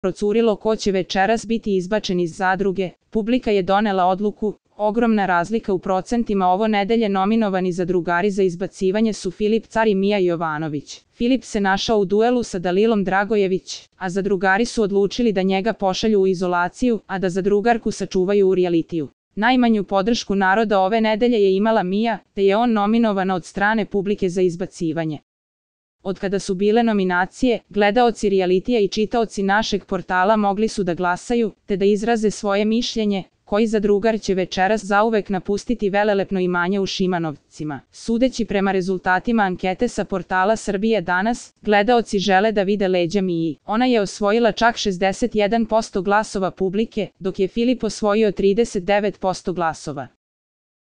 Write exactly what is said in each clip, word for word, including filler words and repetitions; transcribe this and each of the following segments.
procurilo ko će večeras biti izbačen iz zadruge, publika je donela odluku. Ogromna razlika u procentima. Ovo nedelje nominovani zadrugari za izbacivanje su Filip Car i Mija Jovanović. Filip se našao u duelu sa Dalilom Dragojević, a zadrugari su odlučili da njega pošalju u izolaciju, a da zadrugarku sačuvaju u realitiju. Najmanju podršku naroda ove nedelje je imala Mija, te je on nominovana od strane publike za izbacivanje. Od kada su bile nominacije, gledaoci realitija i čitaoci našeg portala mogli su da glasaju, te da izraze svoje mišljenje, koji zadrugar će večeras zauvek napustiti velelepno imanje u Šimanovcima. Sudeći prema rezultatima ankete sa portala Srbije danas, gledaoci žele da vide leđa Miji. Ona je osvojila čak šezdeset jedan posto glasova publike, dok je Filip osvojio trideset devet posto glasova.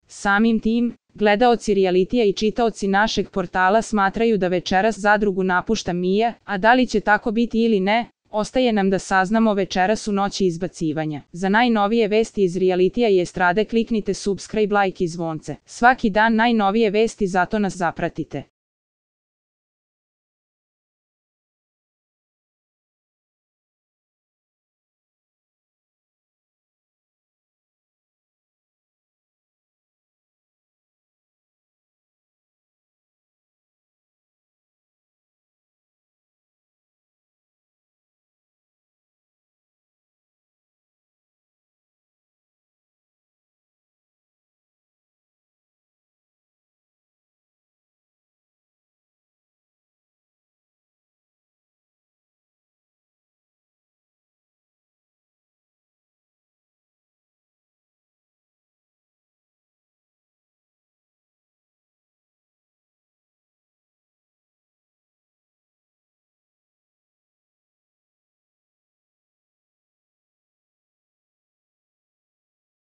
Samim tim, gledaoci realitija i čitaoci našeg portala smatraju da večeras zadrugu napušta Mija, a da li će tako biti ili ne, ostaje nam da saznamo večeras u noći izbacivanja. Za najnovije vesti iz realitija i estrade kliknite subscribe, like i zvonce. Svaki dan najnovije vesti, zato nas zapratite.